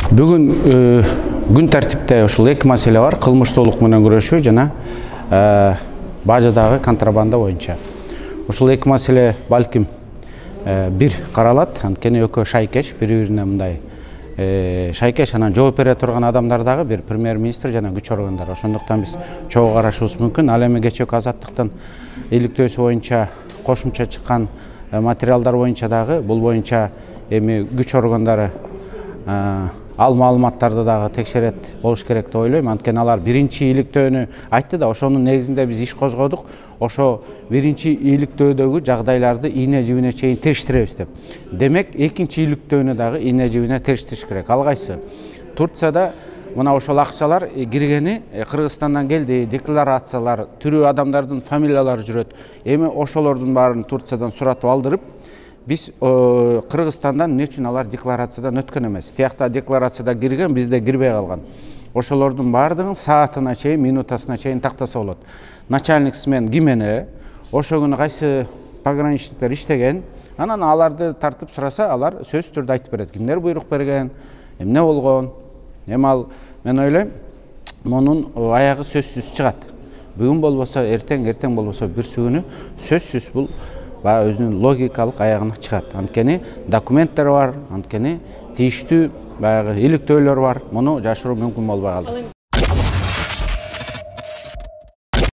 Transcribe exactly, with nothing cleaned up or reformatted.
Бүгүн күн тартипте ушул эки маселе бар: кылмыштуулук менен күрөшүү жана бажадагы контрабанда боюнча. Ушул эки маселе балким бир каралат, анткени экөө шайкеш, бири-бирине мындай шайкеш, анан жооп бере турган адамдар дагы бир премьер-министр жана күч органдары. Ошондуктан биз чогуу карашыбыз мүмкүн. Ал эми кечээки Азаттыктын иликтөөсү боюнча кошумча чыккан материалдар боюнча дагы бул боюнча эми күч органдары ал маалыматтарды дагы текшерет болуш керек деп ойлойм. Анткени алар биринчи иликтөөнү айтты да, ошонун негизинде биз иш козгодук. Ошо биринчи иликтөөдөгү жагдайларды ийне жибине чейин териштиребиз деп. Демек, экинчи иликтөөнү дагы ийне жибине териштириш керек. Ал кайсы? Турцияда мына ошол акчалар киргени Кыргызстандан келди, декларациялар, тирүү адамдардын фамилиялары жүрөт. Эми ошолордун баарын Турциядан суратып алдырып, биз Кыргызстандан эмне үчүн алар декларациядан өткөн эмес? Тиякта декларацияда кирген, бизде кирбей калган. Ошолордун баардыгын саатына чейин, минутасына чейин тактаса болот. Начальник смен кимене, ошо күнү кайсы пограничниктер иштеген, анан аларды тартып сураса, алар сөзсүз түрдө айтып берет. Кимдер буйрук берген, эмне болгон? Эми ал, мен ойлойм, мунун аягы сөзсүз чыгат. Бүгүн болбосо эртең, эртең болбосо бирси күнү сөзсүз бул баягы өзүнүн логикалык аягына чыгат. Анткени документтер бар, анткени тийиштүү баягы иликтөөлөр бар. Муну жашыруу мүмкүн болбой калды.